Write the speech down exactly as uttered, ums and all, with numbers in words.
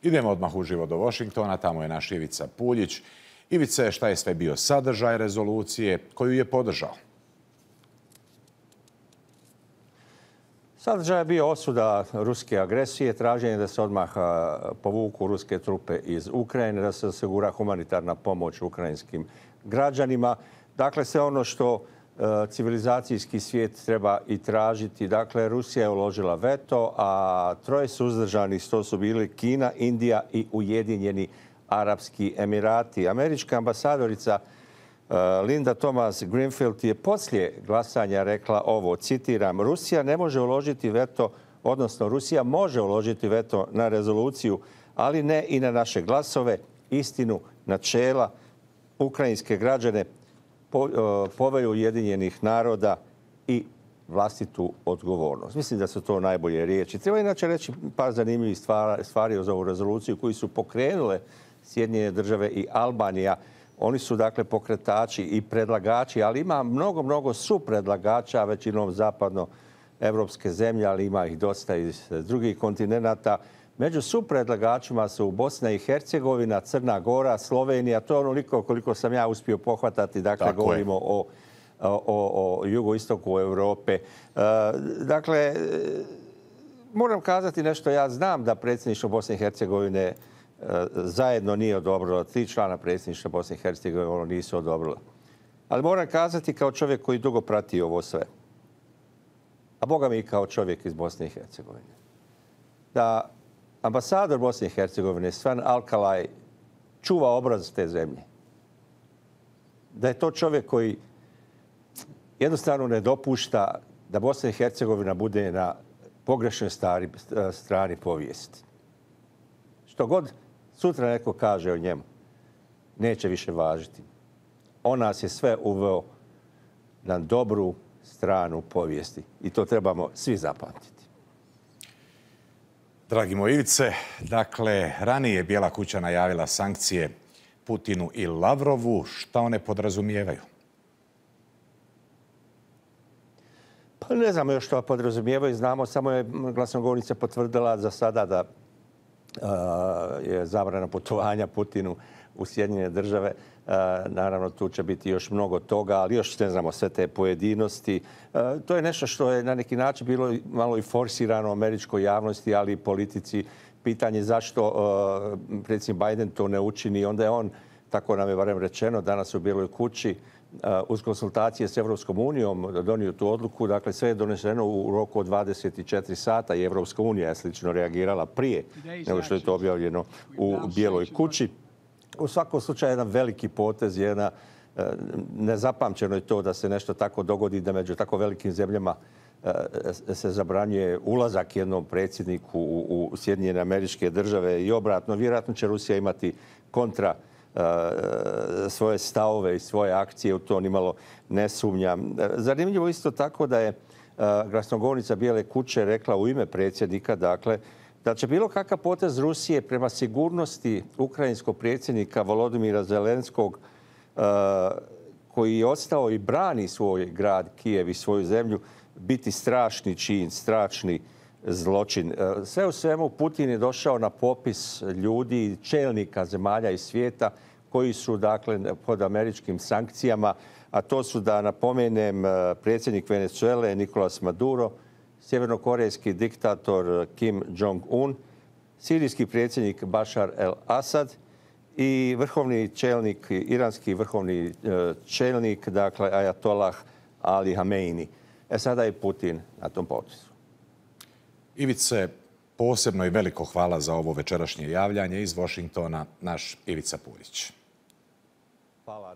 Idemo odmah uživo do Washingtona, tamo je naš Ivica Puljić. Ivice, šta je sve bio sadržaj rezolucije, koju je podržao? Sadržaj je bio osuda ruske agresije, traženje da se odmah povuku ruske trupe iz Ukrajine, da se osigura humanitarna pomoć ukrajinskim građanima. Dakle, sve ono što civilizacijski svijet treba i tražiti. Dakle, Rusija je uložila veto, a troje suzdržanih to su bili Kina, Indija i Ujedinjeni Arapski Emirati. Američka ambasadorica Linda Thomas-Greenfield je poslije glasanja rekla ovo, citiram, Rusija ne može uložiti veto, odnosno Rusija može uložiti veto na rezoluciju, ali ne i na naše glasove, istinu, načela, ukrajinske građane, povelju Ujedinjenih naroda i vlastitu odgovornost. Mislim da su to najbolje riječi. Treba inače reći par zanimljivih stvari za ovu rezoluciju koji su pokrenule Sjedinjene države i Albanija. Oni su dakle pokretači i predlagači, ali ima mnogo, mnogo supredlagača, većinom zapadnoevropske zemlje, ali ima ih dosta iz drugih kontinenata. Među supredlagačima su Bosna i Hercegovina, Crna Gora, Slovenija. To je onoliko koliko sam ja uspio pohvatati. Dakle, Tako govorimo je. o, o, o jugoistoku Europe. E, dakle, moram kazati nešto. Ja znam da predsjedništvo Bosne i Hercegovine e, zajedno nije odobrilo. Tri člana predsjedništva Bosne i Hercegovine ono nisu odobrila. Ali moram kazati kao čovjek koji dugo prati ovo sve. A boga mi i kao čovjek iz Bosne i Hercegovine. Da ambasador Bosne i Hercegovine, Sven Alkalaj, čuva obraz te zemlje. Da je to čovjek koji jednostavno ne dopušta da Bosna i Hercegovina bude na pogrešnoj stari, strani povijesti. Što god sutra neko kaže o njemu, neće više važiti. On nas je sve uveo na dobru stranu povijesti. I to trebamo svi zapamtiti. Dragi moj Ivice, dakle, ranije je Bijela kuća najavila sankcije Putinu i Lavrovu. Šta one podrazumijevaju? Pa ne znamo još što podrazumijevaju. Znamo, samo je glasnogovornica potvrdila za sada da uh, je zabrana putovanja Putinu u Sjedinjene države. Uh, naravno, tu će biti još mnogo toga, ali još ne znamo sve te pojedinosti. Uh, to je nešto što je na neki način bilo malo i forsirano američkoj javnosti, ali i politici. Pitanje zašto uh, predsjednik Biden to ne učini. Onda je on, tako nam je barem rečeno, danas u Bijeloj kući, uh, uz konsultacije s Evropskom unijom donio tu odluku. Dakle, sve je doneseno u roku od dvadeset četiri sata i Evropska unija je slično reagirala prije nego što je to objavljeno u Bijeloj kući. U svakom slučaju jedan veliki potez, jedna nezapamćeno je to da se nešto tako dogodi, da među tako velikim zemljama se zabranjuje ulazak jednom predsjedniku u Sjedinjene Američke Države i obratno. Vjerojatno će Rusija imati kontra svoje stavove i svoje akcije, u to nimalo ne sumnjam. Zanimljivo isto tako da je glasnogovornica Bijele kuće rekla u ime predsjednika, dakle, da će bilo kakav potez Rusije prema sigurnosti ukrajinskog predsjednika Volodimira Zelenskog, koji je ostao i brani svoj grad Kijev i svoju zemlju, biti strašni čin, strašni zločin. Sve u svemu, Putin je došao na popis ljudi, čelnika zemalja iz svijeta koji su dakle pod američkim sankcijama, a to su, da napomenem, predsjednik Venezuele Nicolas Maduro, sjevernokorejski diktator Kim Jong-un, sirijski predsjednik Bashar el-Assad i vrhovni čelnik, iranski vrhovni čelnik, dakle Ajatollah Ali Hameini. E sada je Putin na tom popisu. Ivice, posebno i veliko hvala za ovo večerašnje javljanje iz Washingtona, naš Ivica Puljić. Hvala.